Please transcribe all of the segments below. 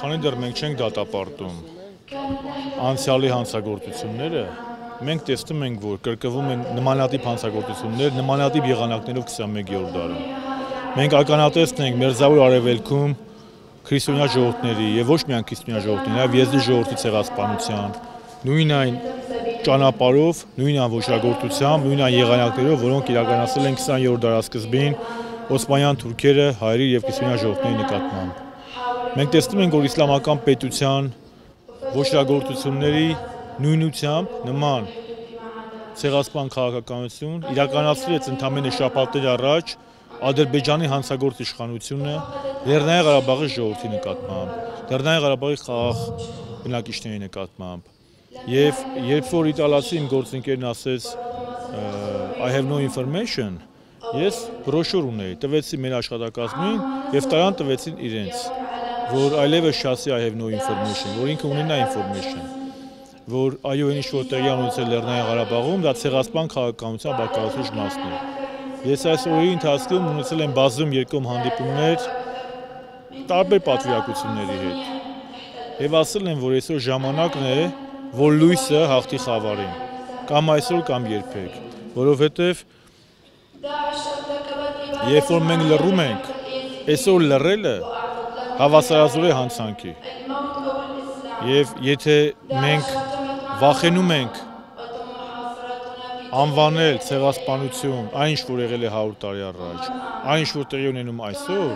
քանի դեռ մենք չենք դատապարտում անցյալի հանցագործությունները, մենք տեսնում ենք, որ կրկնվում են նմանատիպ հանցագործություններ, նմանատիպ եղանակներով 21-րդ դարում։ Մենք ականատեսն ենք Մերձավոր Արևելքում քրիստոնյա ժողովուրդների եւ ոչ միայն քրիստոնյա ժողովուրդների, այլ եզդի ժողովրդի ցեղասպանության, նույն այն ճանապարհով, նույն այն ոչրագործությամբ, նույն այն եղանակներով, որոնք իրականացել են 20-րդ դարասկզբին օսմանյան թուրքերը հայերի եւ քրիստոնյա ժողովուրդների նկատմամբ։ Մենք տեսնում ենք, որ իսլամական պետության ոչրագործությունների նույնությամբ նման ցեղասպան քաղաքականություն իրականացրեց ընդամենը շաբաթներ առաջ Ադրբեջանի հանցագործ իշխանությունը Լեռնային Ղարաբաղի ժողովրդի նկատմամբ, Լեռնային Ղարաբաղի խաղաղ բնակիչների նկատմամբ։ Եվ երբ որ իտալացի իմ գործընկերն ասեց I have no information, ես բրոշուր ունեի, տվեցի մեր աշխատակազմին եւ տարան տվեցին իրենց, որ այլևս չասի I have no information, որ ինքը ունենա information, որ այո, ինչ որ տեղի ունեցել Լեռնային Ղարաբաղում, դա ցեղասպան քաղաքականության բաղկացուցիչ մասն է։ Ես այս օրերի ընթացքում ունեցել եմ բազում երկում հանդիպումներ տարբեր պատվիրակությունների հետ եւ ասել են, որ այսօր ժամանակն է, որ լույսը հաղթի խավարին, կամ այսօր կամ երբեք, որովհետեւ երբ որ մենք լռում ենք, այսօր լռելը հավասարազոր է հանցանքի։ Եվ եթե մենք վախենում ենք անվանել ցեղասպանություն, այն ինչ որ եղել է 100 տարի առաջ, այն ինչ որ տեղի ունենում այսօր,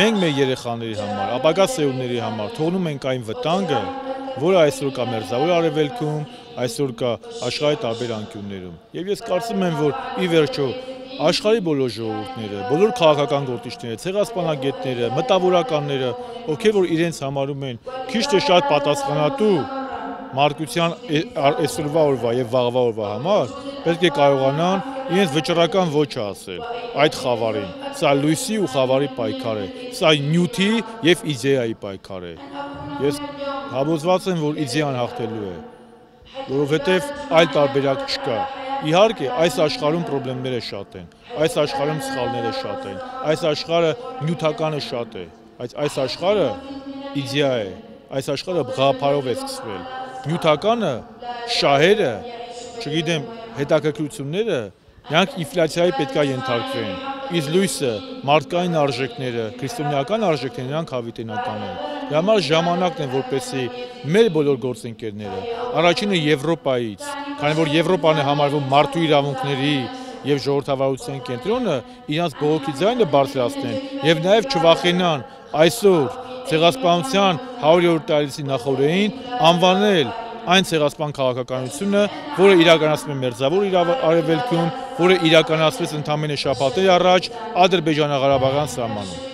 մենք մեր երեխաների համար, ապագա սերունդների համար թողնում ենք այն վտանգը, որը այսօր կա Մերձավոր Արևելքում, այսօր կա աշխարհի տարբեր անկյուններում։ Եվ ես կարծում եմ, որ ի վերջո աշխարհի բոլոր ժողովուրդները, բոլոր քաղաքական գործիչները, ցեղասպանագետները, մտավորականները, ովքեր որ իրենց համարում են քիչ թե շատ պատասխանատու մարտության այսօրվա օրվա եւ վաղվա օրվա համար, պետք է կարողանան իրենց վճռական ոչը ասել այդ խավարին։ Սա լույսի ու խավարի պայքար է, սա նյութի եւ իդեայի պայքար է։ Ես համոզված եմ, որ իդեան հաղթելու է, որովհետեւ այլ տարբերակ չկա։ Իհարկե, այս աշխարհում խնդիրները շատ են, այս աշխարհում սխալները շատ են, այս աշխարհը նյութականը շատ է, բայց այս աշխարհը իդեա է, այս աշխարհը գաղափարով է սկսվել։ Նյութականը, շահերը, չգիտեմ, հետաքրքրությունները, նրանք ինֆլյացիայի պետքա ենթարկվեն, իսկ լույսը, մարդկային արժեքները, քրիստոնեական արժեքները, նրանք հավիտենական են։ Դրա համար ժամանակն է, որպեսզի մեր բոլոր գործընկերները, առաջինը Եվրոպայից, քանի որ Եվրոպան է համարվում մարդու իրավունքների եւ ժողովրդավարության կենտրոնը, իրանց բողոքի ձայնը բարձրացնեն եւ նաեւ չվախենան այսօր ցեղասպանության 100-րդ տարելիցի նախօրեին անվանել այն ցեղասպան քաղաքականությունը, որը իրականացվում է Մերձավոր Արևելքում, որը իրականացվեց ընդամենը շաբաթներ առաջ Ադրբեջանա-Ղարաբաղյան սահմանում։